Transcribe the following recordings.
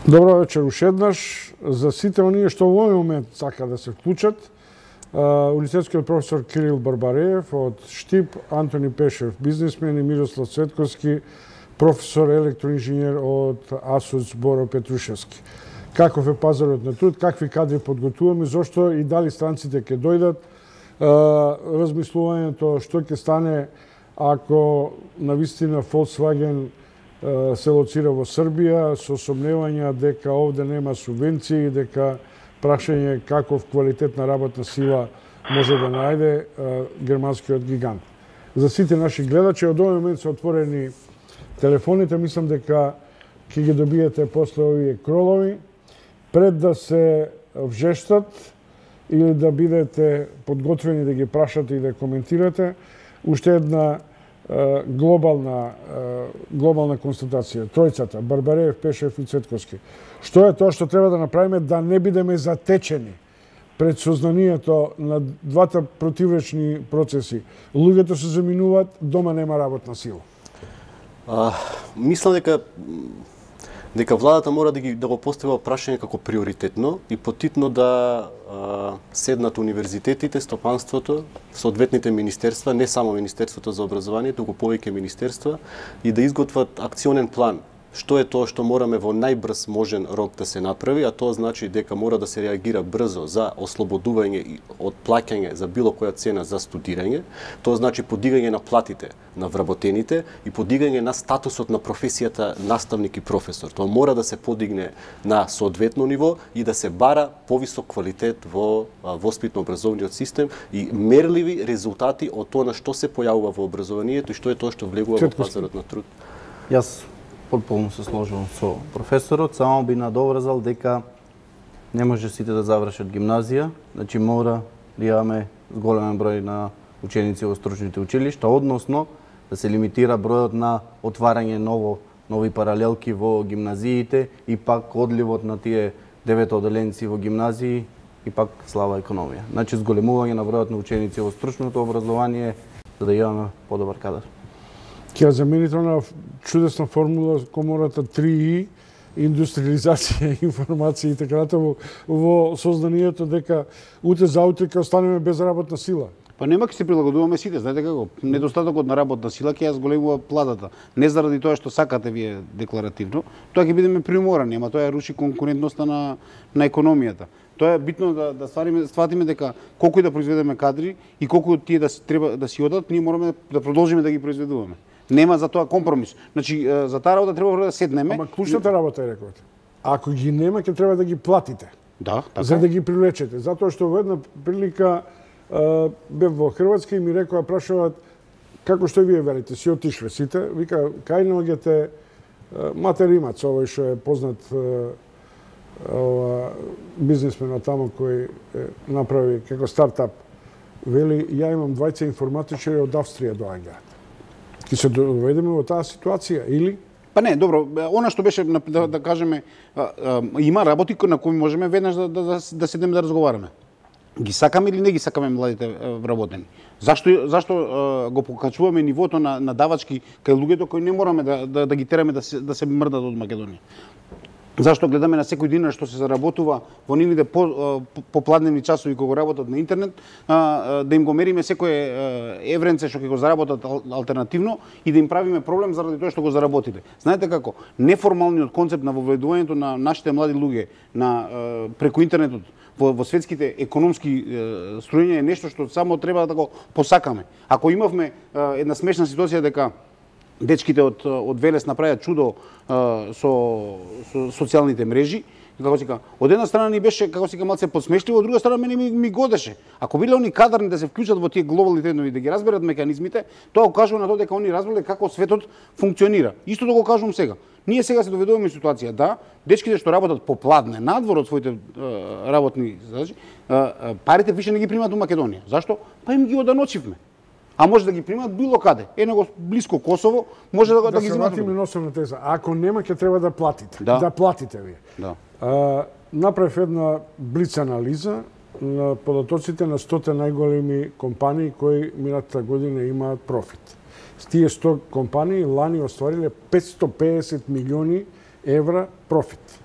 Добро вечер уште еднаш. За сите оние што во овој момент сака да се вклучат, универзитетскиот професор Кирил Барбареев од Штип, Антони Пешев, бизнисмен, и Мирослав Цветковски, професор електроинженер од АСУЦ Боро Петрушевски. Каков е пазарот на труд, какви кадри подготвуваме, зошто и дали странците ќе дојдат, размислувањето што ќе стане ако навистина Volkswagen се лоцира во Србија, со сомневања дека овде нема субвенции, дека прашање каков квалитет на работна сила може да најде германскиот гигант. За сите наши гледачи, од овој момент се отворени телефоните, мислам дека ќе ги добиете после овие кролови, пред да се вжештат или да бидете подготвени да ги прашате и да коментирате. Уште една глобална констатација. Тројцата, Барбареев, Пешев и Цветковски. Што е тоа што треба да направиме да не бидеме затечени пред сознанието на двата противречни процеси? Луѓето се заминуваат, дома нема работна сила. Мислам дека владата мора да го постави прашање како приоритетно и потитно да седнат универзитетите, стопанството, соодветните министерства, не само Министерството за образование, туку повеќе министерства, и да изготват акционен план. Што е тоа што мораме во најбрз можен рок да се направи, а тоа значи дека мора да се реагира брзо за ослободување од плаќање за било која цена за студирање. Тоа значи подигање на платите на вработените и подигање на статусот на професијата наставник и професор. Тоа мора да се подигне на соодветно ниво и да се бара повисок квалитет во воспитно-образовниот систем и мерливи резултати од тоа на што се појавува во образованието и што е тоа што влегува во пазарот на труд. Јас потполно се сложувам со професорот, само би надоврзал дека не може сите да завршат гимназија, значи мора да имаме голем број на ученици во стручните училишта, односно да се лимитира бројот на отварање нови паралелки во гимназиите и пак одливот на тие 9 оделенци во гимназии и пак слаба економија. Значи зголемување на бројот на ученици во стручното образование за да имаме подобар кадар. Ќе замените на чудесна формула комората 3И, индустриализација, информација и така натаму во сознанието дека утре за утре ќе останеме без работна сила. Па нема ќе се прилагодуваме сите, знаете како? Недостатокот на работна сила ќе ја зголемува платата. Не заради тоа што сакате вие декларативно, тоа ќе бидеме приуморани, ама тоа ја руши конкурентноста на економијата. Тоа е битно да сватиме дека колку и да произведеме кадри и колку тие да треба да си одат, ние мораме да продолжиме да ги произведуваме. Нема за тоа компромис. Значи за таа работа треба да седнеме. Ама клучната работа е рековте. Ако ги нема, ќе треба да ги платите. Да, така. За да ги привлечете. Затоа што во една прилика бев во Хрватска и ми рекоа, прашуваат како што вие велите, си отишле сите, вика кај наоѓате Мате Римац, овој што е познат бизнисмен тамо кој направи како стартап. Вели, ја имам двајца информатичари од Австрија доаѓаат. Ке се доведеме во таа ситуација, или? Па не, добро, она што беше, да кажеме, има работи на кои можеме веднаш да седнеме да разговараме. Ги сакаме или не ги сакаме младите вработени? Зашто го покачуваме нивото на давачки кај луѓето кои не мораме да ги тераме да се мрдат од Македонија? Зашто гледаме на секој динар што се заработува во нивните попладневни часови кога работат на интернет, да им го мериме секое евренце што ќе го заработат алтернативно и да им правиме проблем заради тоа што го заработиле. Знаете како? Неформалниот концепт на воведувањето на нашите млади луѓе преку интернетот во светските економски струјања е нешто што само треба да го посакаме. Ако имавме една смешна ситуација дека дечките од Велес направија чудо со социјалните мрежи, како се кажа, од една страна ни беше како се кажа малце подсмешливо, од друга страна мене ми годеше. Ако биле они кадарни да се вклучат во тие глобални трендови да ги разберат механизмите, тоа ukажува на тоа дека они разбрале како светот функционира. Исто да го кажувам сега. Ние сега се доведуваме ситуација да дечките што работат попладне надвор од своите работни задачи, парите више не ги примаат во Македонија. Зашто? Па им ги оданочивме. А може да ги примат било каде. Него блиско Косово, може да ги земат. Да се вратиме на основна теза. Ако нема, ќе треба да платите. Да платите вие. Да. Направив една блиц анализа на податоците на 100 најголеми компании кои минатата година имаат профит. Тие 100 компании лани оствариле 550 милиони евра профит.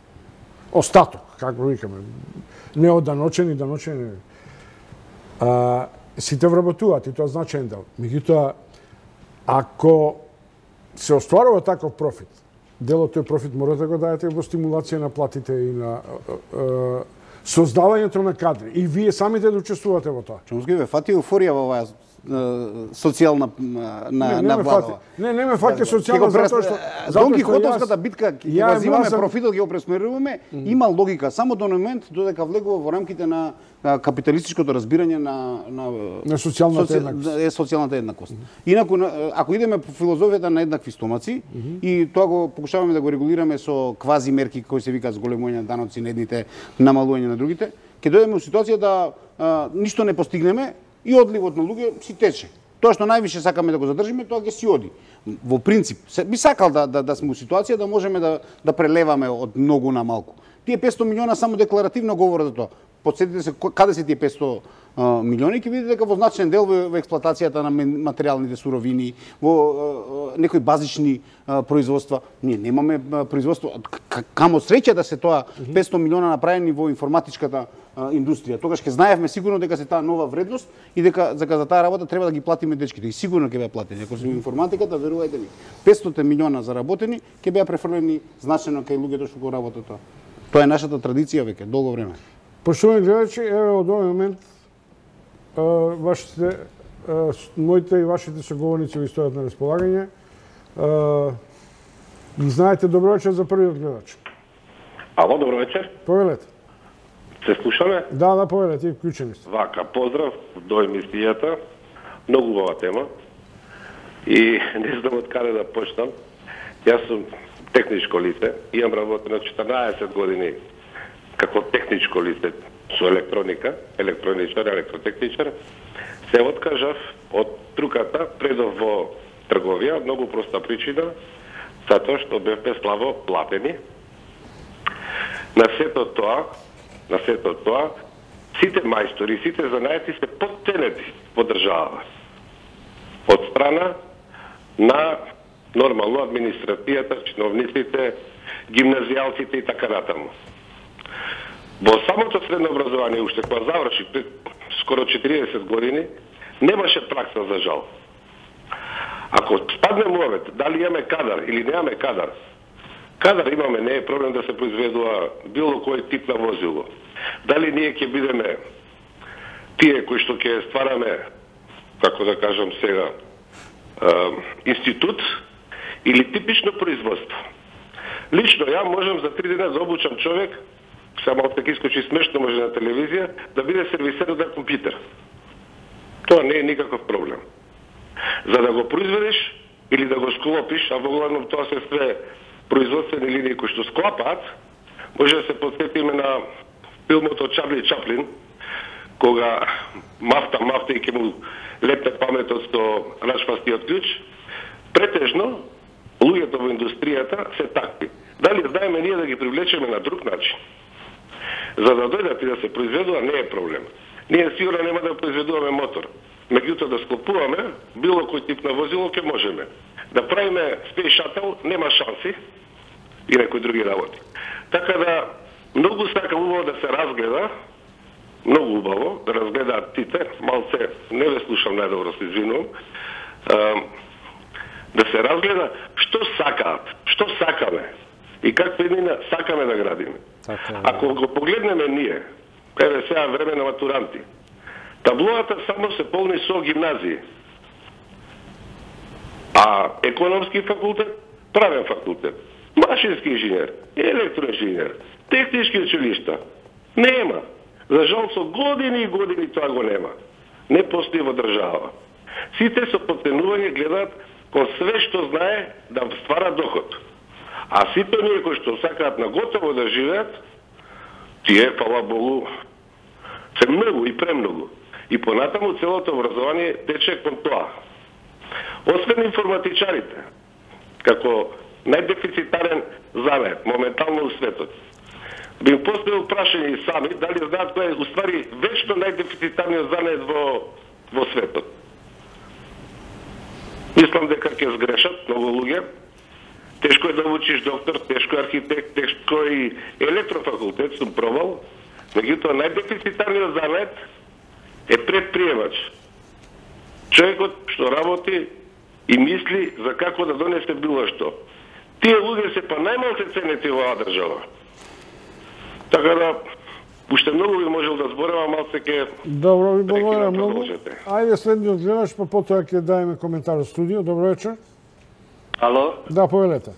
остаток, како викаме, не од даночени, сите вработуваат и тоа значаен дел. Меѓутоа, ако се остварува таков профит, дел од тој профит мора да го дајете во стимулација на платите и на создавањето на кадри. И вие самите да учествувате во тоа. Чомски ве фати еуфорија во оваа социјална на влада. Не ме фати социјална затоа што Дон Кихотовската битка ќе го земаме профитот, ќе го пресмеруваме, има логика само до момент додека влегува во рамките на капиталистичкото разбирање на социјалната еднаквост. Инаку ако идеме по филозофијата на еднакви стомаци и тоа го покушаваме да го регулираме со квази мерки кои се викаат зголемување на даноци на едните, намалување на другите, ќе дојдеме во ситуација да ништо не постигнеме и одливот на луѓе си тече. Тоа што највише сакаме да го задржиме, тоа ќе си оди. Во принцип, би сакал да сме во ситуација да можеме да прелеваме од многу на малку. Тие 500 милиона само декларативно говорат за тоа. Потсетите се каде се тие 500 милиони, ќе видите дека во значаен дел во експлоатацијата на материјалните суровини, во некои базични производства. Ние немаме производство. Камо среќа да се тоа 500 милиона направени во информатичката индустрија. Тогаш ќе знаевме сигурно дека се таа нова вредност и дека за таа работа треба да ги платиме дечките. И сигурно ќе беа платени. Ако се во информатиката, верувајте ми, 500 милиона заработени ќе беа префрлени значајно кај луѓето што го работат тоа. Тоа е нашата традиција веќе долго време. Поштовани гледачи, еве од овој момент моите и вашите соговорници ви стојат на располагање. Ги знаете, добро вечер за првиот гледач. Ало, добро вечер. Повелете. Се слушаме? Да, повелете, и вклучени сте. Вака, поздрав до емисијата. Многу убава тема. И не знам од каде да почнам. Јас сум техничко лице, имам работено 14 години како техничко лице со електроника, електроничар, електротехничар. Се откажав од труката, предов во трговија, многу проста причина, затоа што бевме слабо платени. На сето тоа, сите мајстори, сите занаети се потценети во држава. Од страна на нормално администрацијата, чиновниците, гимназијалците и така натаму. Во самото средно образование, уште кога заврши пред скоро 40 години, немаше пракса за жал. Ако спаднем овет, дали имаме кадар или немаме кадар, кадар имаме, не е проблем да се произведува било кој тип на возило. Дали ние ќе бидеме тие кои што ќе ствараме, како да кажам сега, институт или типично производство. Лично ја можам за 3 дена да обучам човек, само така искочи смешно може на телевизија, да биде сервисер на компјутер. Тоа не е никаков проблем. За да го произведеш или да го склопиш, а воглавном тоа се све производствени линии кои што склапаат, може да се подсетиме на филмот од Чарли Чаплин, кога мафта и ќе му летне паметот со рачпастиот клjuč. Претежно, луѓето во индустријата се такви. Дали знаеме ние да ги привлечеме на друг начин? За да дојдат и да се произведува, не е проблем. Ние сигурно нема да произведуваме мотор. Меѓутоа да склопуваме било кој тип на возило ќе можеме. Да правиме Space Shuttle нема шанси и некои други работи. Така да многу сакам убаво да се разгледа, многу убаво да разгледаат сите, малце не ве слушам најдобро, се извинувам, да се разгледа што сакаат, што сакаме и каква иднина сакаме да градиме. Ако го погледнеме ние, еве сега време на матуранти, таблоата само се полни со гимназии. А економски факултет, правен факултет, машински инженер, електроинженер, технички училишта, нема. За жал со години и години тоа го нема. Не постои во држава. Сите со потенување гледаат кон све што знае да ствара доход. А сите ние кои што сакаат на готово да живеат, тие, фала Богу, се многу и премногу. И понатаму целото образование тече кон тоа. Освен информатичарите, како најдефицитарен занает, моментално у светот, би им поставил прашање и сами, дали знаат кој е уствари вечно најдефицитарниот занает во светот. Мислам дека ќе сгрешат многу луѓе, тешко е да учиш доктор, тешко е архитект, тешко е и електрофакултет, сум пробал. Меѓутоа, најдефицитарниот занет е предприемач. Човекот што работи и мисли за како да донесе било што. Тие луѓе се па најмалку ценети во оваа држава. Така да, уште многу би можел да зборам, малце ке... Добро, ви благодарам многу. Ајде следниот гледаш, па потоа ќе дајме коментар во студио. Добро вечер. Ало? Да, повелете.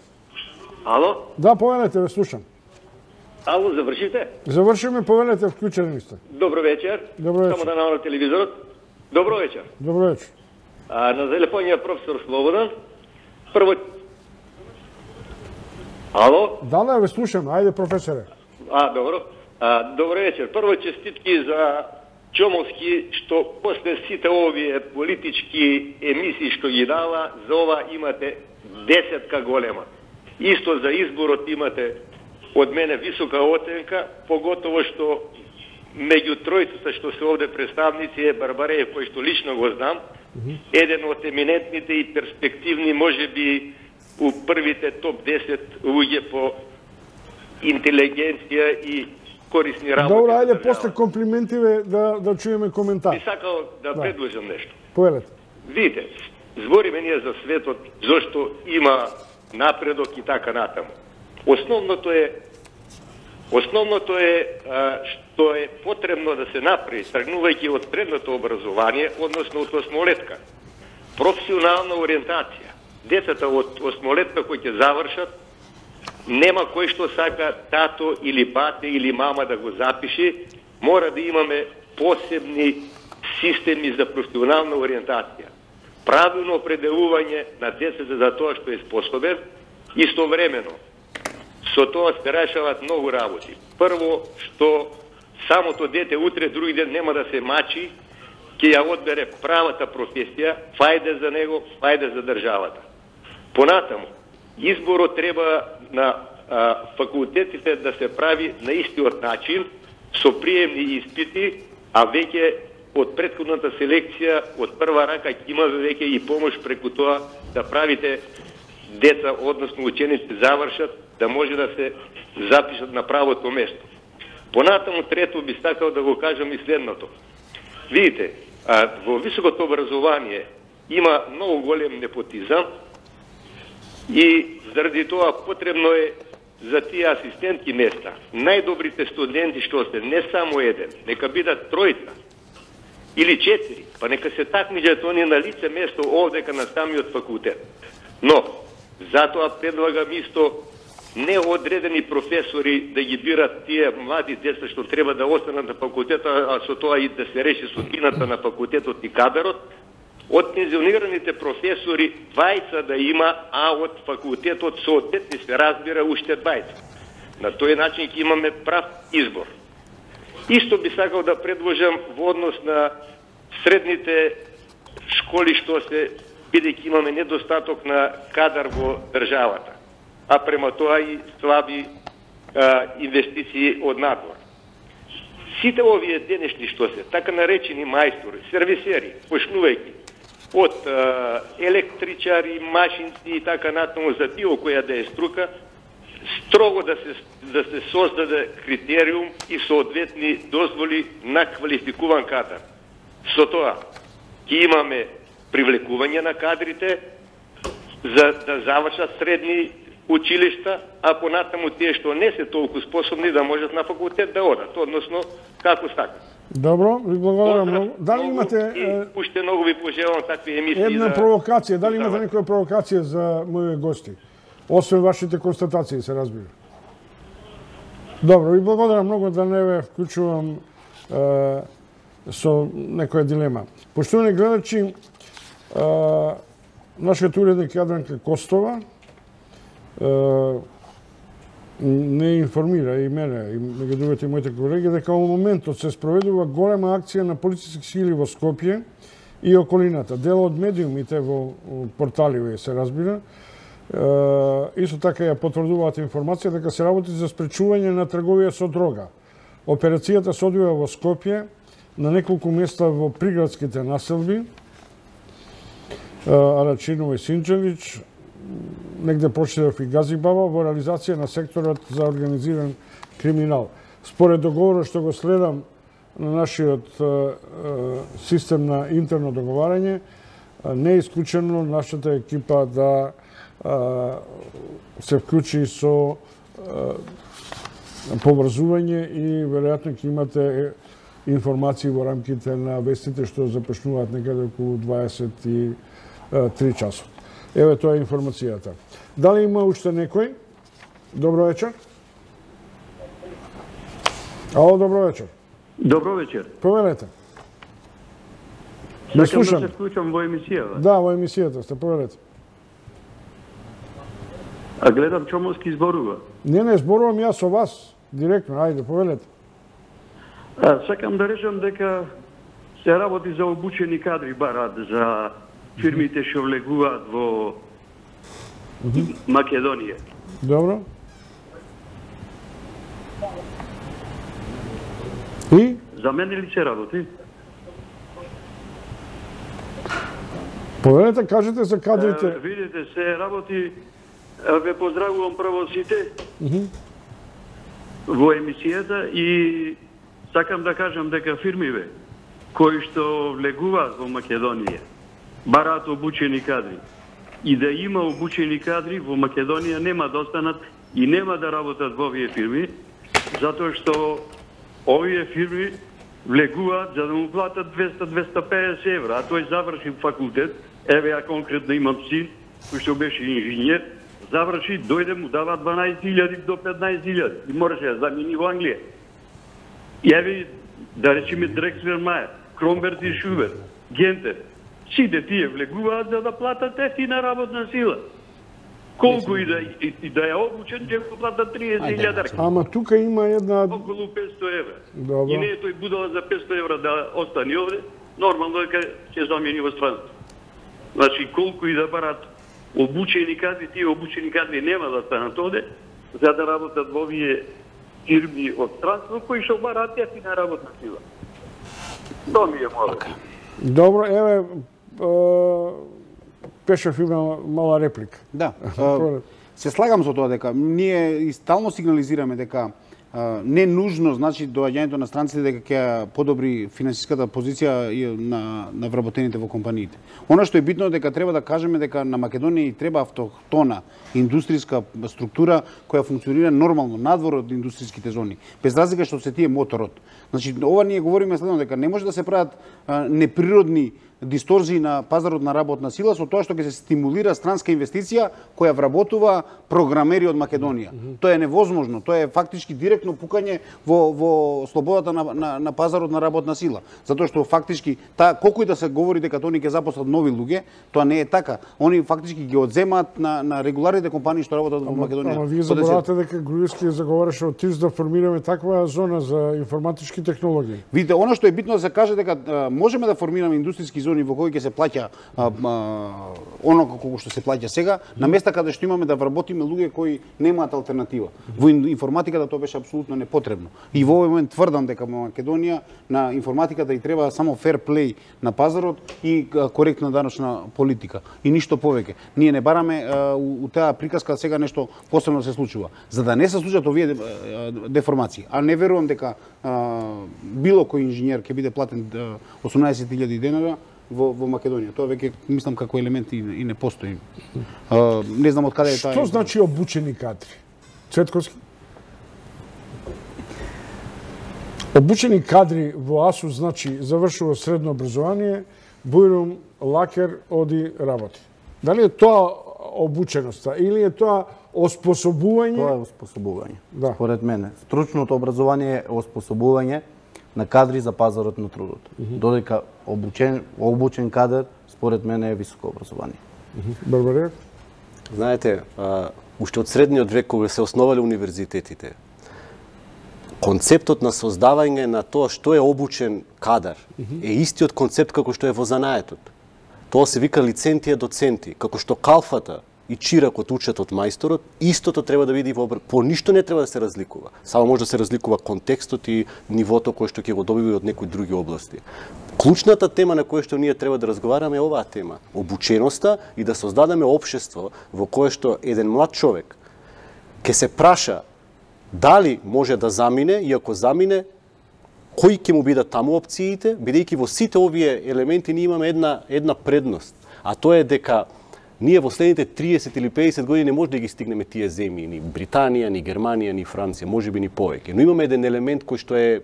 Ало? Да, повелете, ве слушам. Ало, завршите? Завршиме, повелете, вклучени сте. Добро вечер. Добро вечер. Само да намалам телевизорот. Добро вечер. Добро вечер. На телефонија професор Слободан. Прво... Ало? Да, ве слушам. Ајде, професоре. Добро. Добро вечер. Прво честитки за Чомовски, што после сите овие политички емисии што ги дава, за ова имате 10 голема. Исто за изборот имате од мене висока оценка, поготово што меѓу тројцата што се овде представници е Барбареев, кој што лично го знам, еден од еминентните и перспективни, можеби у првите топ 10 луѓе по интелигенција и корисни работи. Добро, ајде после комплиментиве да чуеме коментар. Би сакал да предложам нешто. Повелете. Видите, збориме ние за светот, зашто има напредок и така натаму. Основното е што е потребно да се направи, тргнувајќи од средното образование, односно од осмолетка. Професионална ориентација. Децата од осмолетка кои ќе завршат, нема кој што сака тато или бате или мама да го запиши, мора да имаме посебни системи за професионална ориентација. Правилно определување на децата за тоа што е способен, истовремено со тоа се решават многу работи. Прво, што самото дете утре, други ден нема да се мачи, ќе ја одбере правата професија, фајде за него, фајде за државата. Понатаму, изборот треба на факултетите да се прави на истиот начин, со приемни испити, а веќе од претходната селекција, од прва рака ќе има веќе и помош преку тоа да правите деца, односно ученици завршат, да може да се запишат на правото место. Понатаму, трето, би сакал да го кажам и следното. Видите, во високото образование има многу голем непотизам и заради тоа потребно е за тие асистентки места, најдобрите студенти што се, не само еден, нека бидат тројца или 4, па нека се такмиџат они на лице место овдека на самиот факултет. Но, затоа предлагам исто неодредени професори да ги бират тие млади деца што треба да останат на факултетот, а со тоа и да се реши судбината на факултетот и кадарот, од пензионираните професори 20 да има, а од факултетот соодветни се разбира уште 20. На тој начин ќе имаме прав избор. Исто би сакал да предложам во однос на средните школи што се, бидејќи имаме недостаток на кадар во државата, а према тоа и слаби инвестиции од надвор. Сите овие денешни што се, така наречени мајстори, сервисери, почнувајќи од електричари, машинци и така натаму за било која да е струка, строго да се создаде критериум и соодветни дозволи на квалификуван кадар. Со тоа ќе имаме привлекување на кадрите за да завршат средни училишта, а понатаму тие што не се толку способни да можат на факултет да одат, односно како сакат. Добро, ви благодарам многу. Дали имате уште многу ви пожелувам такви емисии една провокација, дали имате некоја провокација за моите гости? Освен вашите констатации, се разбира. Добро, ви благодарам многу, да не ве вклучувам со некоја дилема. Поштовани гледачи, нашиот уредник Јадранка Костова не информира и мене, и меѓу другите моите колеги, дека во моментот се спроведува голема акција на полициски сили во Скопје и околината. Дел од медиумите во порталиве се разбира, исто така ја потврдуваат информација дека се работи за спречување на трговија со дрога. Операцијата се одвива во Скопје, на неколку места во приградските населби, Арачиново и Синчевич, негде прочитав и Газибаба во реализација на секторот за организиран криминал. Според договорот што го следам на нашиот систем на интерно договарање, не е исклучено нашата екипа да се вклучи со поврзување и веројатно ќе имате информации во рамките на вестите што започнуваат некаде околу 23 часот. Еве тоа е информацијата. Дали има уште некој? Добро вечер. Ало, добро вечер. Добро вечер. Повелете. Сакам да се вклучам во емисијата. Да, во емисијата сте, повелете. А гледам Чомовски зборува. Не зборувам јас со вас, директно, ајде, повелете. Сакам да речам дека се работи за обучени кадри барат за фирмите што влегуваат во Македонија. Добро. И? За мене ли се работи? Повелете, кажете за кадрите. Видите, се работи. Ве поздравувам прво сите во емисијата и сакам да кажам дека фирмиве кои што влегуваат во Македонија бараат обучени кадри. И да има обучени кадри во Македонија нема да останат и нема да работат во овие фирми, затоа што овие фирми влегуваат за да му платат 200-250 евра, а тој заврши факултет, еве ја конкретно имам син, кој што беше инженер, заврши, дојде му дава 12.000 до 15.000 и можеше да замени во Англија. И еве, да речеме Дрекслер Мајер, Кромберт и Шубер, Гентер, сите тие влегуваат за да платат ефтина работна сила. Колку и да е обучен, ќе го платат 30.000. Ама тука има една... Околу 500 евра. Добро. И не е тој будала за 500 евра да остане овде, нормално дека ќе замени во странство. Значи, колку и да барат обучени кадри, тие обучени кадри нема да станат овде, за да работат во овие фирми од странство, кои што бараат ефтина работна сила. Тоа ми е молба. Добро, еве, Пешев има мала реплика. Да. Се слагам со тоа дека ние и стално сигнализираме дека не нужно, значи, доаѓањето на странците дека ќе подобри финансиската позиција на вработените во компаниите. Она што е битно дека треба да кажеме дека на Македонија и треба автохтона индустријска структура која функционира нормално надвор од индустријските зони, без разлика што се тие моторот. Значи, ова ние говориме следно дека не може да се прават неприродни дисторзии на пазарот на работна сила со тоа што ќе се стимулира странска инвестиција која вработува програмери од Македонија. Тоа е невозможно, тоа е фактички директно пукање во слободата на пазарот на работна сила. Затоа што фактички колку и да се говори дека тони ќе запослат нови луѓе, тоа не е така. Они фактички ги одземаат на регуларните компании што работат во Македонија. Ама вие заборавате дека Груевски заговараше од ТИС да формираме таква зона за информатички технологии. Видите, она што е битно да се каже дека можеме да формираме индустријски зони во кои ќе се плаќа онока колку што се плаќа сега, на места каде што имаме да вработиме луѓе кои немаат алтернатива. Во информатиката тоа беше апсолутно непотребно. И во овој момент тврдам дека во Македонија на информатиката и треба само фер плей на пазарот и коректна даночна политика. И ништо повеќе. Ние не бараме у таа приказка сега нешто посебно се случува. За да не се случат овие деформации. А не верувам дека било кој инженер ќе биде платен 18.000 денара во Македонија. Тоа веќе мислам како елемент и не постои. Не знам од каде е таа. Што значи обучени кадри? Цветковски? Обучени кадри во АСУ значи завршува средно образование, бујрум, лакер, оди работи. Дали е тоа обученоста или е тоа оспособување? Тоа е оспособување. Да. Според мене, стручното образование е оспособување на кадри за пазарот на трудот. Додека обучен кадар, според мене, е високо образование. Барбарија? Знаете, уште од средниот век кога се основале универзитетите, концептот на создавање на тоа што е обучен кадар е истиот концепт како што е во занаетот. Тоа се вика лицентија доценти, како што калфата и чиракот учат од мајсторот, истото треба да биде по ништо не треба да се разликува. Само може да се разликува контекстот и нивото кое што ќе го добива од некои други области. Клучната тема на која што ние треба да разговараме е оваа тема, обученоста и да создадеме општество во кое што еден млад човек ќе се праша дали може да замине и ако замине кои ќе му бидат таму опциите, бидејќи во сите овие елементи ние имаме една предност, а тоа е дека ние во следните 30 или 50 години не може да ги стигнеме тие земји, ни Британија, ни Германија, ни Франција, можеби ни повеќе. Но имаме еден елемент кој што е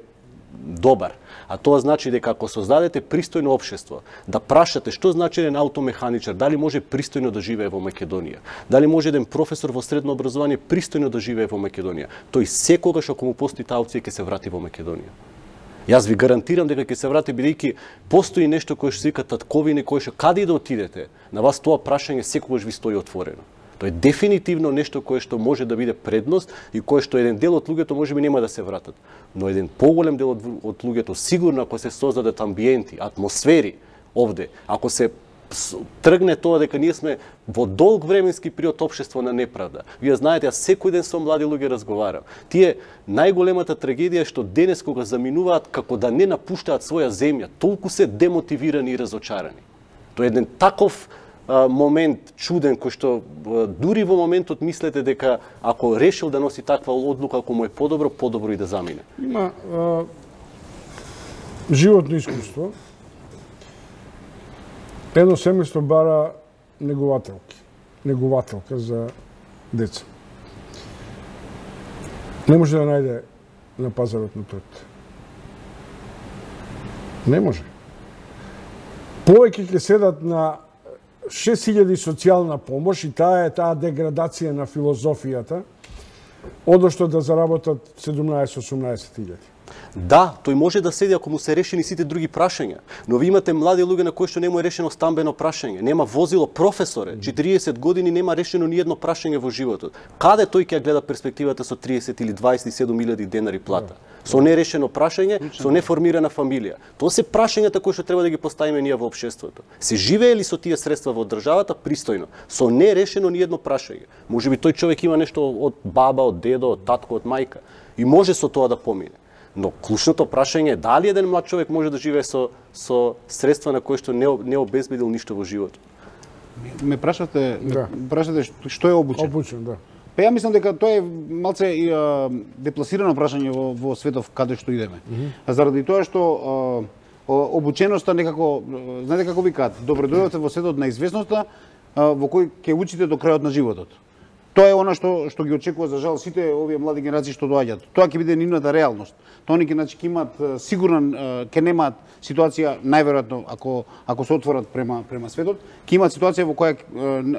добар, а тоа значи дека ако создадете пристојно општество, да прашате што значи еден аутомеханичар, дали може пристојно да живее во Македонија, дали може еден професор во средно образование пристојно да живее во Македонија, тој секогаш ако му постои таа опција ќе се врати во Македонија. Јас ви гарантирам дека ќе се врати, бидејќи постои нешто кое што се вика татковина, кое што каде и да отидете, на вас тоа прашање секогаш ви стои отворено. Тоа е дефинитивно нешто кое што може да биде предност и кое што еден дел од луѓето можеби нема да се вратат. Но еден поголем дел од луѓето сигурно ако се создадат амбиенти, атмосфери овде, ако се тргне тоа дека ние сме во долг временски период општество на неправда. Вие знаете, јас секој ден со млади луѓе разговарам. Тие најголемата трагедија е што денес кога заминуваат како да не напуштаат своја земја, толку се демотивирани и разочарани. Тоа е еден таков момент чуден кој што дури во моментот мислете дека ако решил да носи таква одлука, ако му е подобро и да замине. Има животно искуство. Едно семејство бара негователка за деца. Не може да најде на пазарот на труд. Не може. Повеќе ќе седат на 6000 социјална помош и таа е таа деградација на филозофијата, одошто да заработат 17-18 000. Да, тој може да седи ако му се решени сите други прашања, но ви имате млади луѓе на кои што не му е решено стамбено прашање, нема возило, професоре, 40 години нема решено ни едно прашање во животот. Каде тој ќе гледа перспективата со 30 или 27.000 денари плата? Со нерешено прашање, со неформирана фамилија. Тоа се прашањата кои што треба да ги поставиме ние во општеството. Се живее ли со тие средства во државата пристојно, со нерешено ни едно прашање? Можеби тој човек има нешто од баба, од дедо, од татко, од мајка и може со тоа да помине. Но клучното прашање е дали еден млад човек може да живее со средства на кои што не обезбедил ништо во животот. Ме прашате што е обучен? Обучен, да. Па ја мислам дека тоа е малце депласирано прашање во светов каде што идеме. Заради тоа што обученоста некако, знаете како викаат, добро дојдовте во светот на известноста во кој ќе учите до крајот на животот. Тоа е она што ги очекува за жал сите овие млади генерации што доаѓаат. Тоа ќе биде нивната реалност. Тоа они ќе имаат сигурен ќе немаат ситуација најверојатно ако се отворат према светот, ќе имаат ситуација во која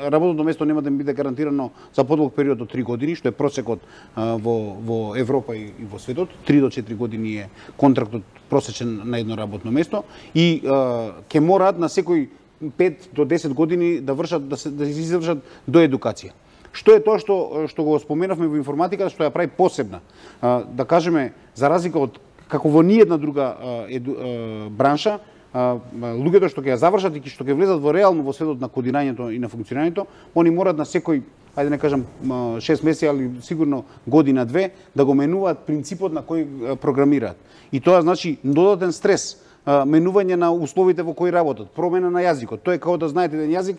работното место нема да им биде гарантирано за подолг период од 3 години, што е просекот во Европа и во светот. 3 до 4 години е контрактот просечен на едно работно место и ќе мораат на секој 5 до 10 години да извршат до едукација. Што е тоа што го споменавме во информатиката, што ја прави посебна? Да кажеме, за разлика од како во ниедна друга бранша, луѓето што ќе ја завршат и што ќе влезат во реално во светот на кодирањето и на функционирањето, они морат на секој, ајде не кажам 6 месеци, али сигурно година-две, да го менуваат принципот на кој програмираат. И тоа значи додатен стрес, менување на условите во кои работат, промена на јазикот. Тоа е како да знаете еден јазик,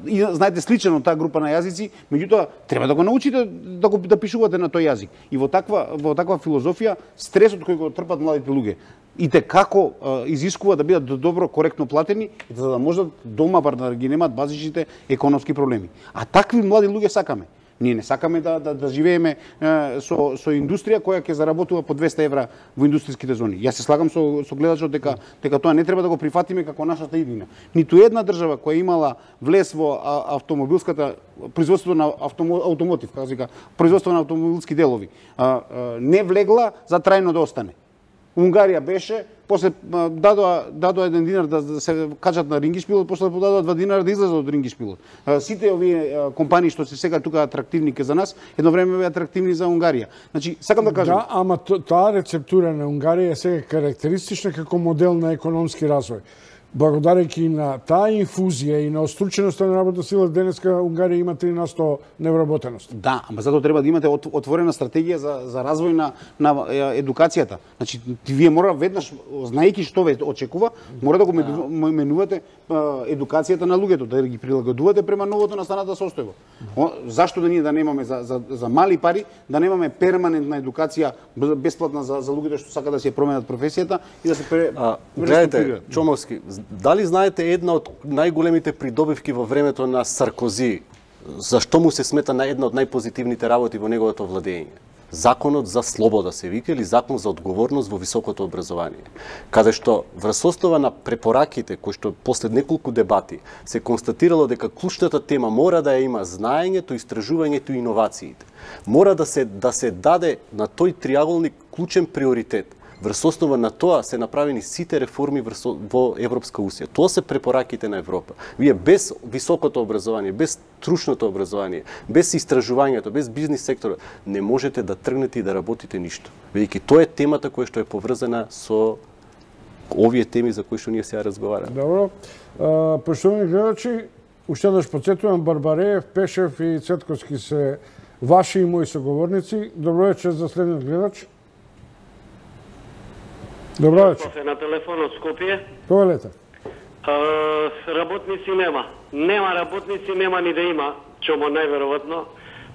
и знаете сличен од таа група на јазици, меѓутоа треба да го научите да пишувате на тој јазик. И во таква филозофија стресот кој го трпат младите луѓе и те како изискува да бидат добро коректно платени за да можат дома бар да ги немаат базичните економски проблеми. А такви млади луѓе сакаме. Ние не сакаме да живееме со индустрија која ќе заработува по 200 евра во индустријските зони. Јас се слагам со гледачот дека тоа не треба да го прифатиме како нашата иднина. Ниту една држава која имала влез во автомобилската производството на автомотив, како се вика, производство на автомобилски делови, не влегла за трајно да остане. Унгарија беше, после дадоа 1 динар да се качат на рингишпилот, после дадоа 2 динара да излезат од рингишпилот. Сите овие компании што се сега тука атрактивни ке за нас, едно време беа атрактивни за Унгарија. Значи, сакам да кажам. Да, ама таа рецептура на Унгарија е сега карактеристична како модел на економски развој. благодарејќи на таа инфузија и на острученоста на работна сила, денеска Унгарија има 3% невработеност. Да, ама затоа треба да имате отворена стратегија за развој на едукацијата. Значи, вие мора веднаш, знаејќи што ве очекува, мора да го менувате едукацијата на луѓето, да ги прилагодувате према новото настаната состојба. Зашто да ние да немаме за мали пари, да немаме перманентна едукација бесплатна за луѓето што сакаат да се променат професијата и да се гледате, Чомовски, дали знаете една од најголемите придобивки во времето на Саркози, зашто му се смета на една од најпозитивните работи во неговото владење? Законот за слобода се вика, или закон за одговорност во високото образование, каде што врз основа на препораките кои што после неколку дебати се констатирало дека клучната тема мора да ја има знаењето, истражувањето и иновациите. Мора да се даде на тој триаголник клучен приоритет. Врз основа на тоа се направени сите реформи во Европска Унија. Тоа се препораките на Европа. Вие без високото образование, без стручното образование, без истражувањето, без бизнис секторот, не можете да тргнете и да работите ништо. Бидејќи тоа е темата која што е поврзана со овие теми за кои што ние сега разговараме. Добро. Поштовани гледачи, уште еднаш потсетувам, Барбареев, Пешев и Цетковски се ваши и мои соговорници. Добро вечер за следниот гледач. Добро вечер. На телефон од Скопје. Повелете. Работници нема. Нема работници, нема ни да има, чомо најверојатно.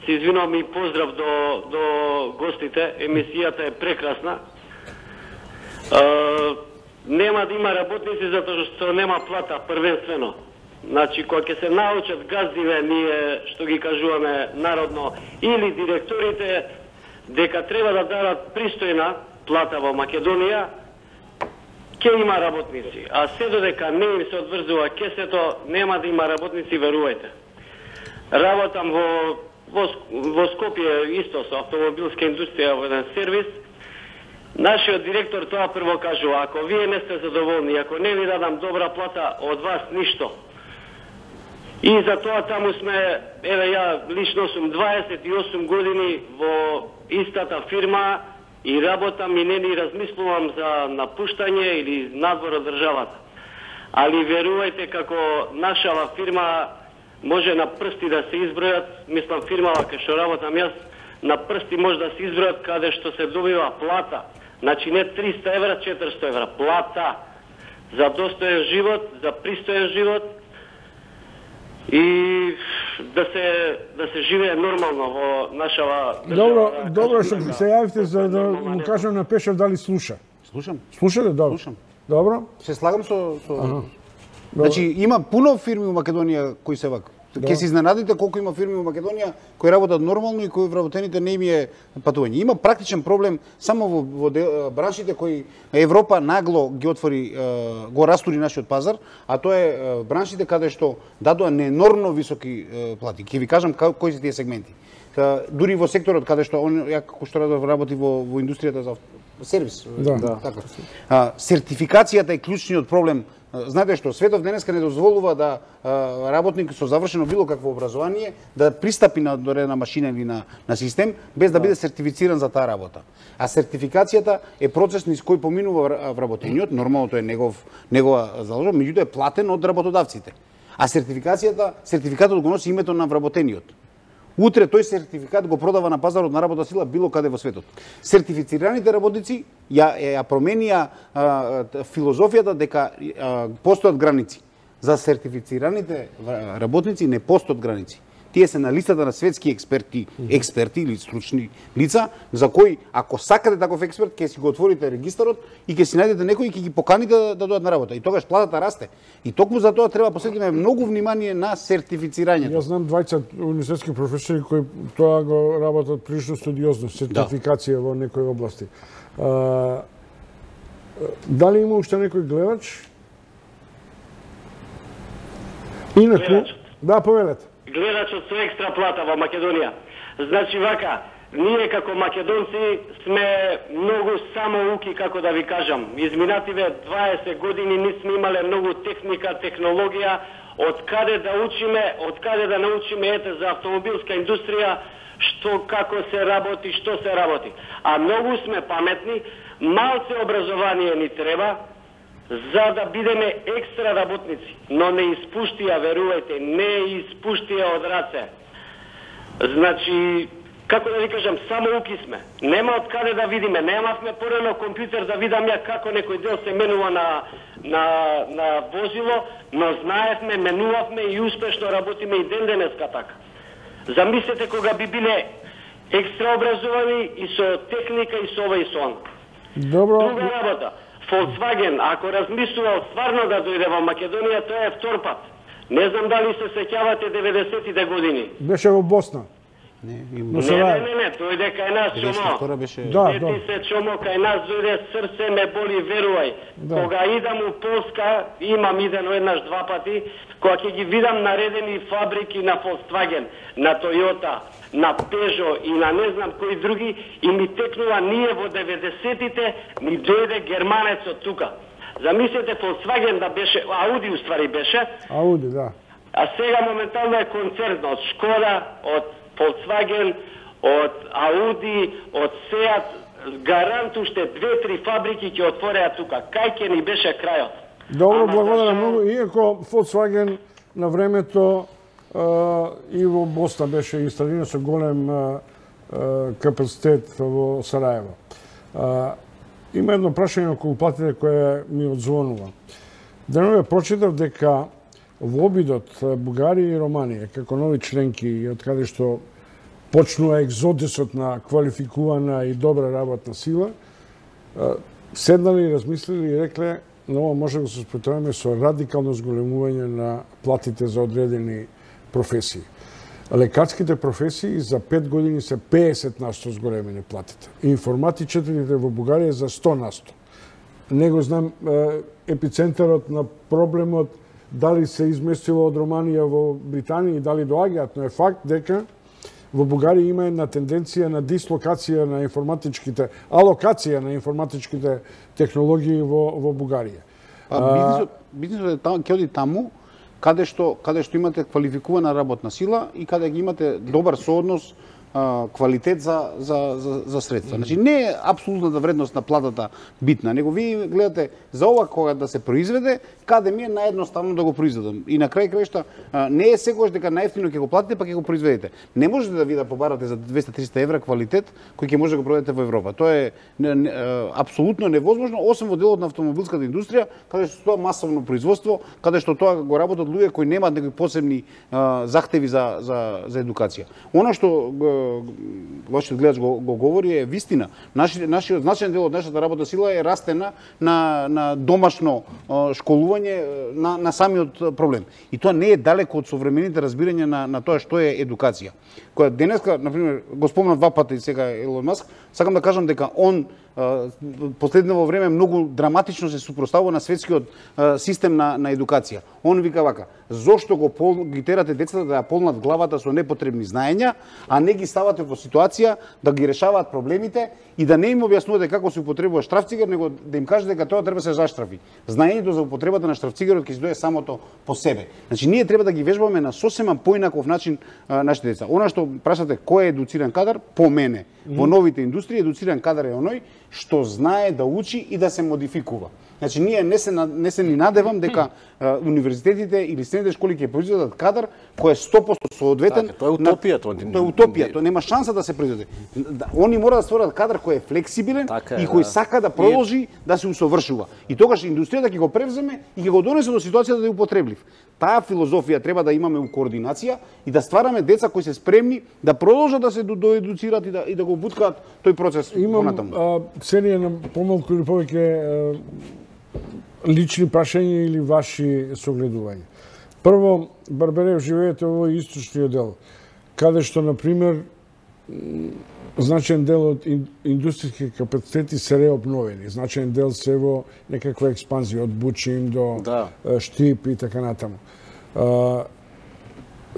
Се извинувам и поздрав до гостите. Емисијата е прекрасна. Нема да има работници затоа што нема плата првенствено. Значи, кога ќе се научат газдиве, ние што ги кажуваме народно, или директорите, дека треба да дадат пристојна плата во Македонија, ќе има работници. А се додека не им се одврзува кесето, нема да има работници, верувајте. Работам во Скопје исто со автомобилска индустрија во еден сервис. Нашиот директор тоа прво кажува: ако вие не сте задоволни, ако не ви дадам добра плата, од вас ништо. И за тоа таму сме, еве ја лично сум 28 години во истата фирма и работам и не ни размислувам за напуштање или надвор од државата. Али верувајте, како нашава фирма може на прсти да се избројат, мислам фирмава кај што работам јас, на прсти може да се избројат каде што се добива плата. Значи не 300 евра, 400 евра. Плата за достоен живот, за пристоен живот и да се живее нормално во нашава држава. Добро што се јавите за да му кажам на Пешев дали слуша. Слушам. Слушате? Добро. Слушам. Добро. Се слагам со... Значи, има пуно фирми во Македонија кои се вака. Ке се изненадите колку има фирми во Македонија кои работат нормално и кои вработените не им е патување. Има практичен проблем само во браншите кои Европа нагло ги отвори, го растури нашиот пазар, а тоа е браншите каде што дадоа ненормално високи плати. Ќе ви кажам кои се тие сегменти. Дури во секторот каде што ја како што работи во индустријата за сервис. Да. Така. Сертификацијата е клучниот проблем. Знаете што, светот денеска не дозволува да работник со завршено било какво образование да пристапи на дорена машина или на систем без да биде сертифициран за таа работа. А сертификацијата е процес низ кој поминува вработениот, нормалното е негова задолжба, меѓутоа е платен од работодавците. А сертификатот го носи името на вработениот. Утре тој сертификат го продава на пазарот на работна сила било каде во светот. Сертифицираните работници ја променија филозофијата дека постојат граници. За сертифицираните работници не постојат граници. Тие се на листата на светски експерти или стручни лица, за кои, ако сакате таков експерт, ќе си го отворите регистарот и ќе си најдете некој и ќе ги поканите да дојдат на работа. И тогаш платата расте. И токму за тоа треба посветиме многу внимание на сертифицирањето. Јас знам 20 универзитетски професори кои тоа го работат прилично студиозно, сертификација во некои области. Дали има уште некој гледач? Инаку, да, повелете. Гледачот со екстра плата во Македонија. Значи вака, ние како македонци сме многу самоуки, како да ви кажам. Изминативе 20 години не сме имале многу техника, технологија, од каде да учиме, од каде да научиме ете за автомобилска индустрија, што како се работи, што се работи. А многу сме паметни, малце образование ни треба, за да бидеме екстра работници, но не испуштија, верувајте, не испуштија од раце. Значи, како да ви кажам, само уки сме. Нема од каде да видиме, немавме порано компјутер да видам ја како некој дел се менува на возило, но знаевме, менувавме и успешно работиме и ден денеска така. Замислете кога би биле екстра образовани и со техника и со ова и со она. Добро. Друга работа. Volkswagen, ако размислувал стварно да дојде во Македонија, тоа е втор пат. Не знам дали се сеќавате 90-тите години. Беше во Босна. Не, дојде кај нас чомо. Сети се чомо кај нас дојде, срце ме боли, верувај. Кога идам у Полска, имам идено еднаш два пати, кога ќе ги видам наредени фабрики на Volkswagen, на Toyota, на Peugeot и на не знам кои други, и ми текнува ние во 90-тите, ни дојде германецот тука. Замислете Volkswagen да беше, Ауди уствари беше. Ауди, да. А сега моментално е концерн од Шкода, од Volkswagen, од Audi, од Seat, гарант уште 2-3 фабрики ќе отвореа тука. Кај ќе ни беше крајот? Добро, благодарам многу. Иако Volkswagen на времето и во Босна беше инсталиран со голем капацитет во Сараево. Има едно прашање околу платите кое ми одзвонува. Денове прочитав дека во обидот Бугарија и Романија, како нови членки и од каде што почнува екзодисот на квалификувана и добра работна сила, седнали, размислили и рекле, но може да се спротивиме со радикално зголемување на платите за одредени професии. Лекарските професии за 5 години се 50% зголемени платите. Информатичарите во Бугарија за 100%. Не го знам епицентарот на проблемот дали се изместило од Романија во Британија и дали доаѓаат, но е факт дека во Бугарија има една тенденција на дислокација на информатичките, алокација на информатичките технологии во Бугарија. Бизнисот ќе оди таму каде што имате квалификувана работна сила и каде ги имате добар сооднос квалитет за средства. Значи не е апсолутната вредност на платата битна, него ви гледате за ова кога да се произведе, каде ми е наједноставно да го произведам. И на крај крајшта не е секогаш дека најевтино ќе го платите па ќе го произведете. Не можете да ви да побарате за 200-300 евра квалитет кој ќе може да го продадете во Европа. Тоа е апсолутно невозможно, освен во делот на автомобилската индустрија, каде што тоа масовно производство, каде што тоа го работат луѓе кои немаат некои посебни захтеви за едукација. Она што вашиот гледач го говори е вистина. Нашиот значаен дел од нашата работна сила е растена на домашно школување на самиот проблем. И тоа не е далеко од современите разбирања на тоа што е едукација. Која денеска, например, го спомнав два пати сега Елон Маск, сакам да кажам дека он последно време многу драматично се супроставува на светскиот систем на едукација. Он вика вака: зошто ги терате децата да ја полнат главата со непотребни знаења, а не ги ставате во ситуација да ги решаваат проблемите и да не им објаснувате како се употребува штрафцигер, него да им кажете дека тоа треба да се заштрафи. Знаењето за употребата на штрафцигерот ќе се дое самото по себе. Значи ние треба да ги вежбаме на сосема поинаков начин нашите деца. Она што прашате кој е едуциран кадар, по мене во новите индустрии едуциран кадар е оној што знае да учи и да се модификува. Значи ние не се ни надевам дека универзитетите или средните школи ќе произведат кадар кој е 100% соодветен. Тоа е утопија, тоа е утопија, тоа нема шанса да се произведе. Они мора да створат кадар кој е флексибилен и кој сака да продолжи да се усовршува. И тогаш индустријата ќе го превземе и ќе го донесе до ситуацијата да е употреблив. Таа филозофија треба да имаме у координација и да ствараме деца кои се спремни да продолжат да се доедуцираат и да го буткаат тој процес понатаму. Имам серија на помалку или повеќе лични прашања или ваши согледувања. Прво, Барберев, живеете во источниот дел, каде што, например, значаен дел од индустријски капацитети се реобновени. Значаен дел се во некаква експанзија, од Бучин до Штип и така натаму.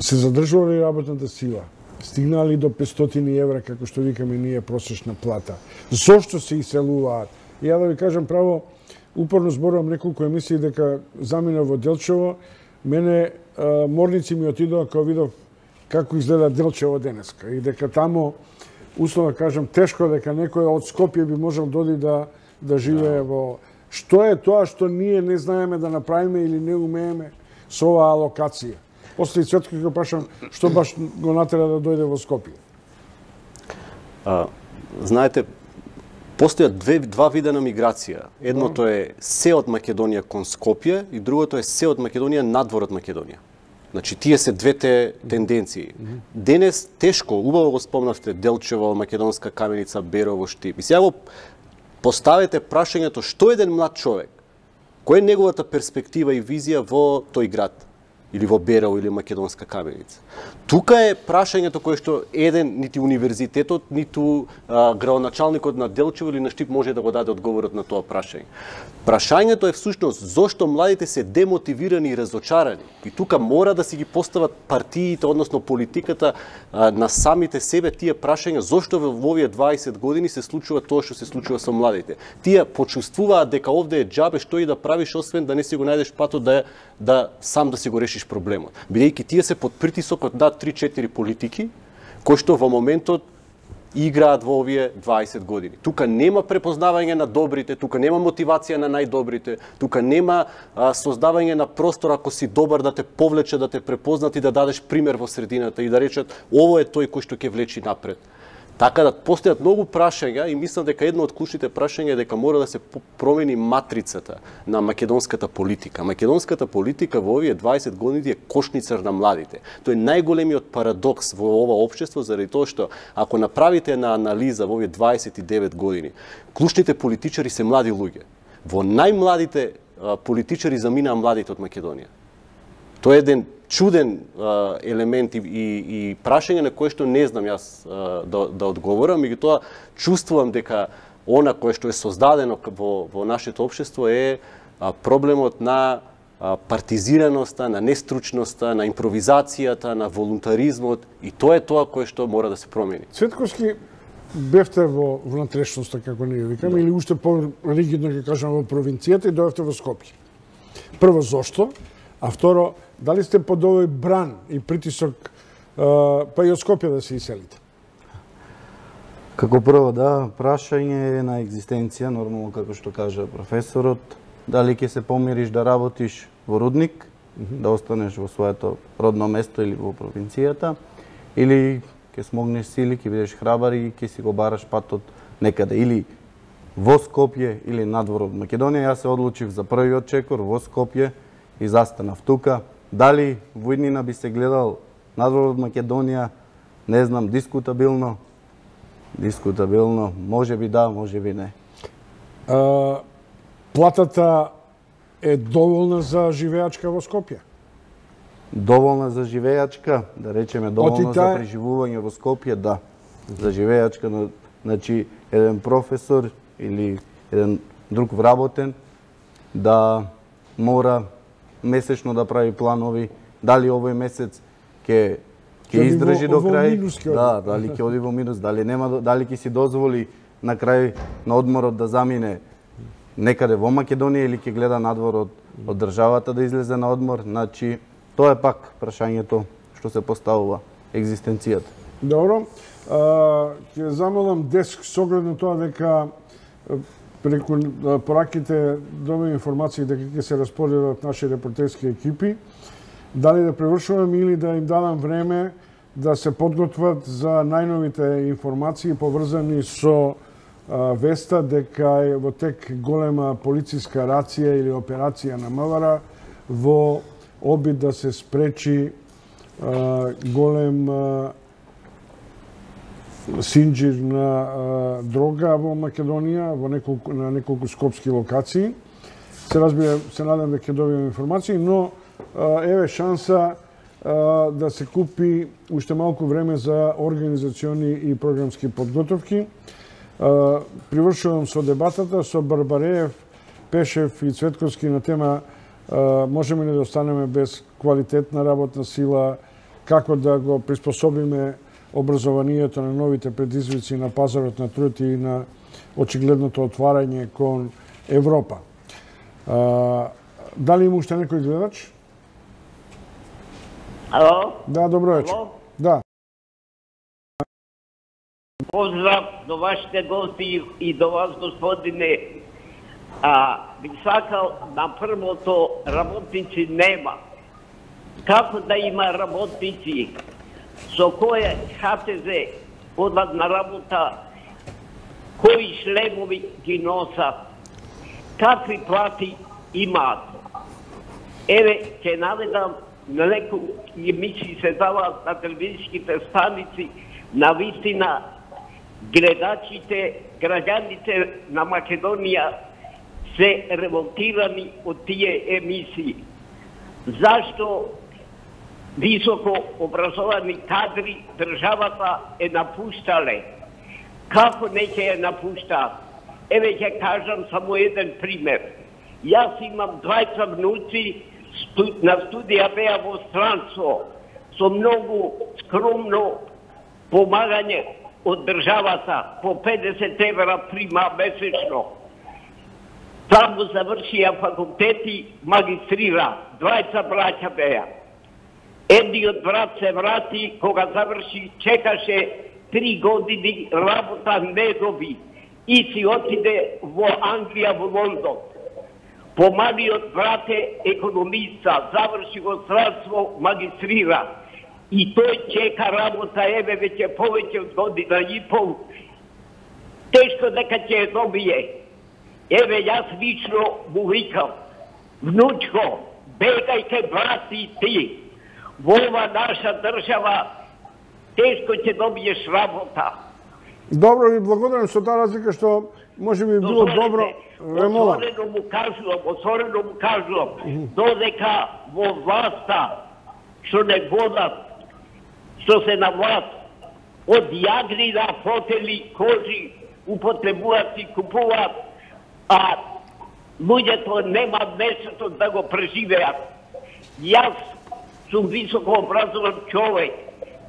Се задржува ли работната сила? Стигнали до 500 евра, како што викаме ние, просечна плата? Зошто се иселуваат? Ја да ви кажам право, упорно зборувам неколку емисии дека замина во Делчево, мене морници ми отидоа кога видов како изгледа Делчево денеска и дека тамо, условно кажам, тешко дека некој од Скопје би можел доди да живее во Што е тоа што ние не знаеме да направиме или не умееме со оваа алокација? После и Цветко го прашам, што баш го натера да дојде во Скопје? Знаете, постојат два вида на миграција. Едното е се од Македонија кон Скопје и другото е се од Македонија надвор од Македонија. Значи, тие се двете тенденции. Денес тешко, убаво го спомнавте, Делчево, Македонска каменица, Берово, Штип. И сега го поставете прашањето што еден млад човек, која е неговата перспектива и визија во тој град, или во Берово, или Македонска каменица. Тука е прашањето кое што еден, нити универзитетот, ниту градоначалникот на Делчево или на Штип може да го даде одговорот на тоа прашање. Прашањето е всушност зошто младите се демотивирани и разочарани. И тука мора да си ги постават партиите, односно политиката на самите себе тие прашања зошто во овие 20 години се случува тоа што се случува со младите. Тие почувствуваат дека овде е џабе што и да правиш освен да не си го најдеш патот да сам да си го решиш проблемот. Бидејќи тие се под притисок од 3-4 политики кои што во моментот играат во овие 20 години. Тука нема препознавање на добрите, тука нема мотивација на најдобрите, тука нема создавање на простор ако си добар да те повлече, да те препознат и да дадеш пример во средината и да речат ово е тој кој што ќе влечи напред. Така да постојат многу прашања и мислам дека едно од клучните прашања е дека мора да се промени матрицата на македонската политика. Македонската политика во овие 20 години е кошницар на младите. Тој е најголемиот парадокс во ова општество заради тоа што ако направите една анализа во овие 29 години, клучните политичари се млади луѓе. Во најмладите политичари заминаа младите од Македонија. Тоа е еден чуден елемент и прашање на кое што не знам јас да одговорам, меѓутоа чувствувам дека она кое што е создадено во нашето општество е проблемот на партизираноста, на нестручноста, на импровизацијата, на волунтаризмот и тоа е тоа кое што мора да се промени. Цветковски, бевте во внатрешноста, како ние викаме, или уште по-ригидно ќе кажам во провинцијата и дојавте во Скопје. Прво, зошто? А второ, дали сте под овој бран и притисок па и од Скопје да се иселите? Како прво, да, прашање на екзистенција, нормално како што кажа професорот, дали ќе се помириш да работиш во рудник, да останеш во своето родно место или во провинцијата, или ќе смогнеш сили, ќе бидеш храбар и ќе си го бараш патот некаде, или во Скопје, или надвор од Македонија. Јас се одлучив за првиот чекор во Скопје и застанав тука. Дали во иднина би се гледал надвор од Македонија, не знам, дискутабилно. Дискутабилно, може би да, може би не. Платата е доволна за живеачка во Скопје? Доволна за живеачка, да речеме доволна за преживување во Скопје, да. За живеачка, значи еден професор или еден друг вработен да мора месечно да прави планови, дали овој месец ќе издржи до крај, да, дали ќе оди во минус, дали нема, дали ќе си дозволи на крај на одморот да замине некаде во Македонија или ќе гледа надвор од државата да излезе на одмор. Значи, тоа е пак прашањето што се поставува, екзистенцијата. Добро. Ќе замолам Деск со оглед на тоа дека преку пораките добива информации дека ќе се распоределат наши репортерски екипи, дали да превршувам или да им дадам време да се подготват за најновите информации поврзани со веста дека е во тек голема полициска рација или операција на МВР во обид да се спречи голем синџир на дрога во Македонија, на неколку скопски локации. Се разбира, се надам дека ќе добием информации, но еве шанса да се купи уште малку време за организациони и програмски подготовки. Привршувам со дебатата со Барбареев, Пешев и Цветковски на тема можеме ли да останеме без квалитетна работна сила, како да го приспособиме образованието на новите предизвици на пазарот на труд и на очигледното отварање кон Европа. Дали има уште некој гледач? Ало? Да, добро вечер. Да. Поздрав до вашите гости и до вас, господине. би сакал на првото работници нема. Како да има работници со кој ХТЗ одат на работа, кои шлемови ги носат, какви плати имаат. Еве, ќе наведам на некои емисии се даваат на телевизиските станици, на вистина гледачите, граѓаните на Македонија се револтирани од тие емисии. Зашто високо образовани кадри државата е напуштале? Како не ќе ја напуштаат? Еве ќе кажам само еден пример. Јас имам 2 внуци, на студија беа во странство, со многу скромно помагање од државата, по 50 евра прима месечно. Таму завршија факултети, магистрира, 2 браќа беа. Едниот брат се врати, кога заврши, чекаше 3 години работа не доби и си отиде во Англија, во Лондон. Помалиот брат е економиста, заврши во странство, магистрира. И тој чека работа, еве веќе повеќе од година и пол. Тешко дека ќе ја добие. Еве јас лично му викам, внучко, бегајте брати ти. Во ова наша држава тешко ќе добиеш работа. Добро, ви благодарам со таа разлика што може би било добро. Отворено му кажувам, додека во власта што не водат, што се на власт, од јагнина, фотели, кожи, употребуваат и купуваат, а луѓето нема место да го преживеат. Јас сум високо образован човек,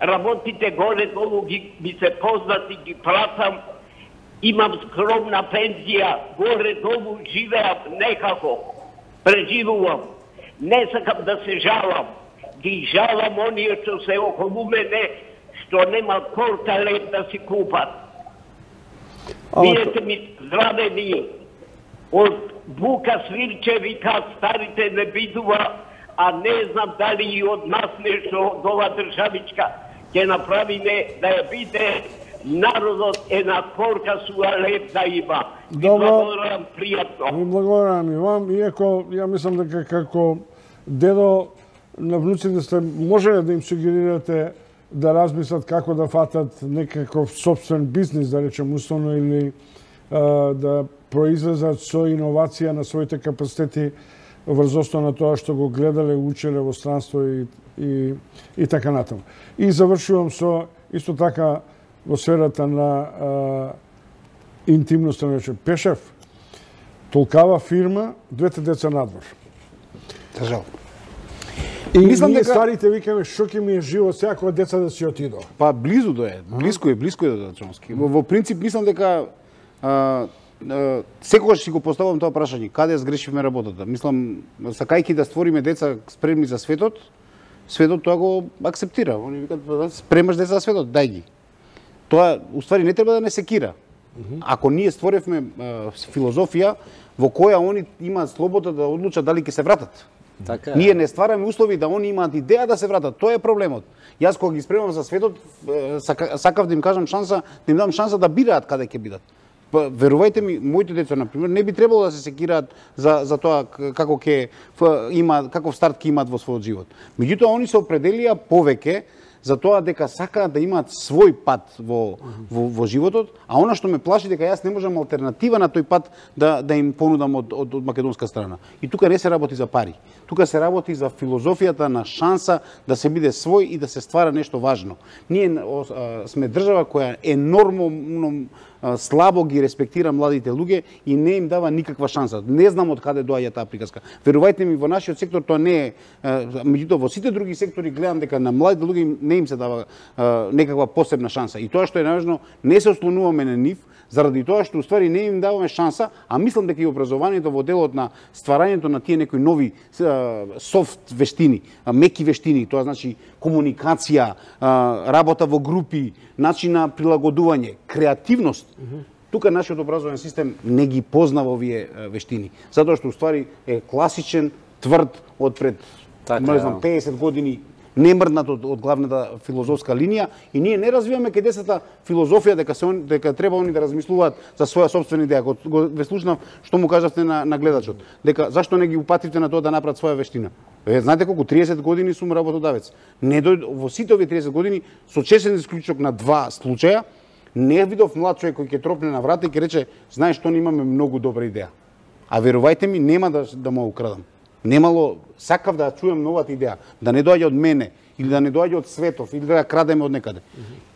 работите горе-долу ми се познати, ги пратам, имам скромна пензија, горе-долу живеам некако, преживувам. Не сакам да се жалам, ги жалам оние што се околу мене, што нема корталет да си купат. Видете ми здравени, од бука свирче вика старите не бидува, а не знам дали и од нас нешто од ова државичка ќе направиме да ја биде народот една корка суалет да има. Добро. Благодарам пријатно. Ви благодарам и вам, иако ја мислам дека како дедо на внуците сте можеле да им сугерирате да размислат како да фатат некаков собствен бизнис, да речем условно, или да произлезат со иновација на своите капацитети врз основа на тоа што го гледале, учеле во странство и така натаму. И завршувам со исто така во сферата на интимноста, речем, Пешев, толкава фирма, 2 деца надвор. Жал. И мислам дека старите викаме што ќе ми е живот сега кога деца да си отидо. Па близу до е, блиско е до Чомски. Во принцип мислам дека секогаш си го поставувам тоа прашање, каде сгрешивме работата. Мислам, сакајќи да створиме деца спремни за светот, светот тоа го акцептира. Они викаат, спремаш деца за светот, дај ги. Тоа, уствари, не треба да не секира. Ако ние створевме филозофија во која они имаат слобода да одлучат дали ќе се вратат. Така е. Ние не ствараме услови да они имаат идеја да се вратат. Тоа е проблемот. Јас кога ги спремам за светот, сакав да им кажам шанса, да им дам шанса да бираат каде ќе бидат. Верувајте ми, моите деца, например, не би требало да се секираат за тоа како ќе има, каков старт ќе имаат во својот живот. Меѓутоа, они се определија повеќе за тоа дека сакаат да имаат свој пат во животот, а она што ме плаши дека јас не можам алтернатива на тој пат да им понудам од македонска страна. И тука не се работи за пари. Тука се работи за филозофијата на шанса да се биде свој и да се ствара нешто важно. Ние сме држава која енормно слабо ги респектира младите луѓе и не им дава никаква шанса. Не знам од каде доаѓа таа приказка. Верувајте ми, во нашиот сектор тоа не е, меѓутоа во сите други сектори гледам дека на младите луѓе не им се дава некаква посебна шанса. И тоа што е најважно, не се ослонуваме на нив, заради тоа што уствари не им даваме шанса, а мислам дека и образованието во делот на стварањето на тие некои нови софт вештини, меки вештини, тоа значи комуникација, работа во групи, начин на прилагодување, креативност, тука нашиот образовен систем не ги познава овие вештини, затоа што уствари е класичен, тврд од пред 50 години, немрднат од главната филозофска линија, и ние не развиваме кај децата филозофија дека треба они да размислуваат за своја сопствена идеја. Ве слушнав што му кажавте на гледачот, дека зашто не ги упативте на тоа да направат своја вештина. Знаете колку 30 години сум работодавец. Во сите овие 30 години, со чесен исклучок на 2 случаја, не видов млад човек кој ќе тропне на врата и ќе рече: знаеш што, не имаме многу добра идеја. А верувајте ми, нема да му украдам. Немало, сакав да чуем новата идеја, да не доаѓа од мене, или да не доаѓа од светов, или да ја крадеме од некаде.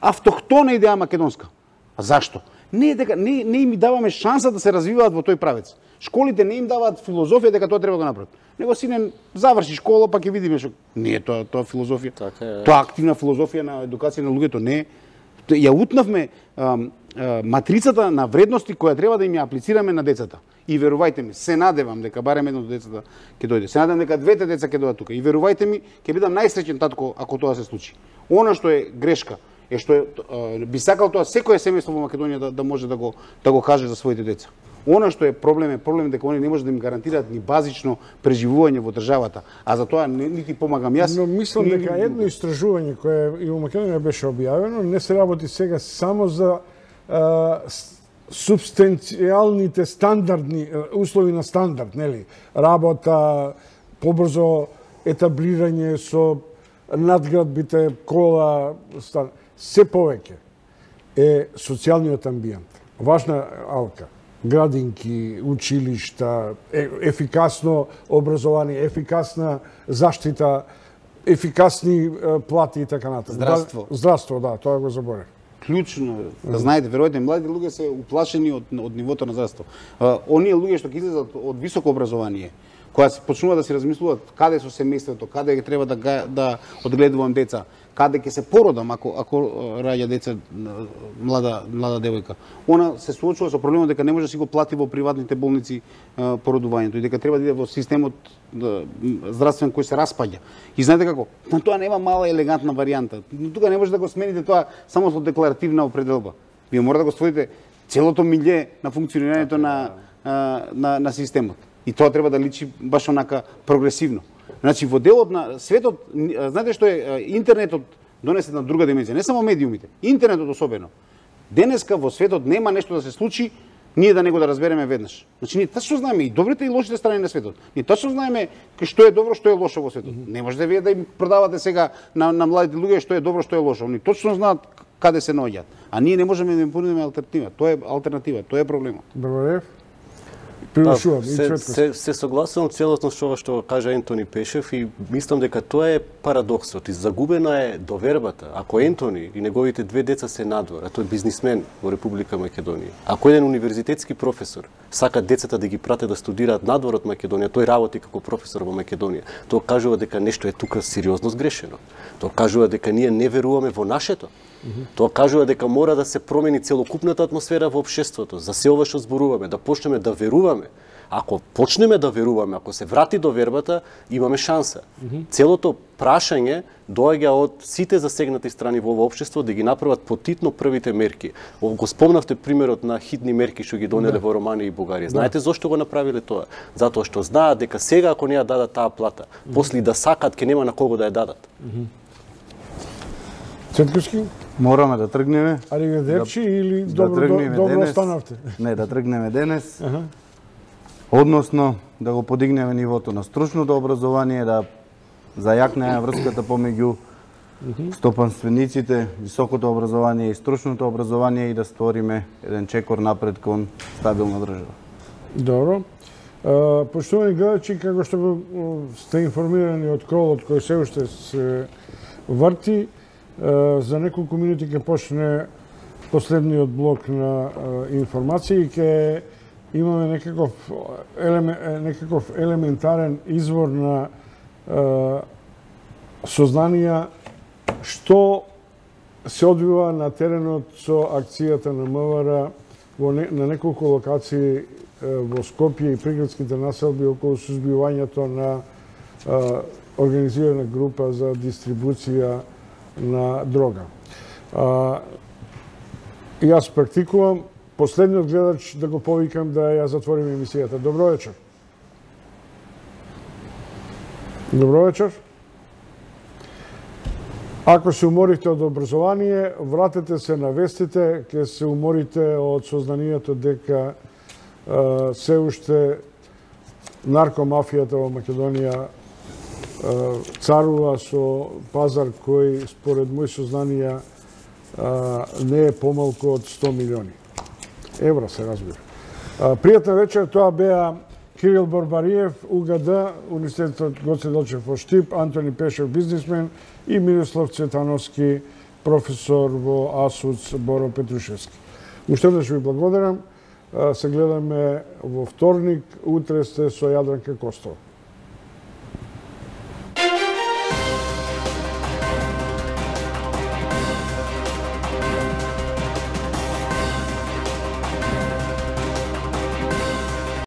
Автохтона идеја македонска. А зашто? Не им даваме шанса да се развиваат во тој правец. Школите не им даваат филозофија дека тоа треба да направат. Него сине заврши школа, па ќе видиме што. Не е тоа филозофија. Тоа активна филозофија на едукација на луѓето не е. Ја утнавме матрицата на вредности која треба да им ја аплицираме на децата. И верувајте ми, се надевам дека барем едно од децата ќе дојде. Се надевам дека двете деца ќе дојдат тука. И верувајте ми, ќе бидам најсреќен татко ако тоа се случи. Она што е грешка е што би сакал тоа секое семејство во Македонија да може да го каже за своите деца. Она што е проблем дека они не може да им гарантираат ни базично преживување во државата, а за тоа нити помагам јас. Но мислам дека едно истражување кое и во Македонија беше објавено, не се работи сега само за субстанцијалните стандардни услови на стандард, нели? Работа, побрзо етаблирање со надградбите, кола, се повеќе е социјалниот амбиент. Важна алка. Градинки, училишта, ефикасно образование, ефикасна заштита, ефикасни плати и така натаму. Здравство, да, тоа го заборев. Клучно, да знаете, веројатно младите луѓе се уплашени од нивото на здравство. Оние луѓе што ќе излезат од високо образование, која се почнува да се размислуваат каде со семејството, каде треба да одгледувам деца, каде ќе се породам ако раѓа деца млада девојка. Она се соочува со проблемот дека не може да си го плати во приватните болници породувањето и дека треба да иде во системот здравствен кој се распаѓа. И знаете како? На тоа нема мала елегантна варијанта. Тука не може да го смените тоа само со декларативна определба. Вие мора да го створите целото милје на функционирањето на системот. И тоа треба да личи баш онака прогресивно. Значи, во делот на светот, знаете што е, интернетот донесе на друга димензија, не само медиумите, интернетот особено. Денеска во светот нема нешто да се случи, ние да него да разбереме веднаш. Значи, ние точно знаеме и добрите и лошите страни на светот. Ние точно знаеме што е добро, што е лошо во светот. Не можете вие да им продавате сега на младите луѓе што е добро, што е лошо. Они точно знаат каде се наоѓаат. А ние не можеме да им понудиме алтернатива. Тоа е алтернатива, тоа е проблемот. Добре. Се согласувам целосно што кажа Ентони Пешев и мислам дека тоа е парадоксот и загубена е довербата. Ако Ентони и неговите две деца се надвор, а тој е бизнисмен во Република Македонија, ако еден универзитетски професор сака децата да ги прате да студираат надвор од Македонија, тој работи како професор во Македонија, тоа кажува дека нешто е тука сериозно сгрешено. Тоа кажува дека ние не веруваме во нашето. Тоа кажува дека мора да се промени целокупната атмосфера во општеството, за се ова што зборуваме, да почнеме да веруваме. Ако почнеме да веруваме, ако се врати довербата, имаме шанса. Целото прашање доаѓа од сите засегнати страни во ова општество да ги направат потитно првите мерки. Го спомнавте примерот на хитни мерки што ги донеле во Романија и Бугарија. Знаете зошто го направиле тоа? Затоа што знаат дека сега ако не ја дадат таа плата, после да сакат ќе нема на кого да ја дадат. Цетковски? Мораме да тргнеме. Ариведерчи или добро останавте? Не, да тргнеме денес. Односно, да го подигнеме нивото на стручното образование, да зајакнеме врската помеѓу стопанствениците, високото образование и стручното образование и да створиме еден чекор напред кон стабилна држава. Добро. Поштовани гледачи, како што сте информирани од кролот кој се уште се врти, за неколку минути ќе почне последниот блок на информации и ќе имаме некаков елементарен извор на сознанија што се одвива на теренот со акцијата на МВР на неколку локации во Скопје и приградските населби околу сузбивањето на организирана група за дистрибуција на дрога. Јас практикувам последниот гледач да го повикам да ја затвориме емисијата. Добро вечер. Добро вечер. Ако се уморите од образование, вратете се на вестите, ќе се уморите од сознанието дека се уште наркомафијата во Македонија царува со пазар кој, според мои сознанија, не е помалку од 100 милиони евра, се разбира. Пријатна вечер, тоа беа Кирил Борбариев, УГД, Университетот Гоце Делчев во Штип, Антони Пешев, бизнисмен, и Мирослав Цветановски, професор во АСУЦ Боро Петрушевски. Уште еднаш ви благодарам. Се гледаме во вторник, утре сте со Јадранка Костова.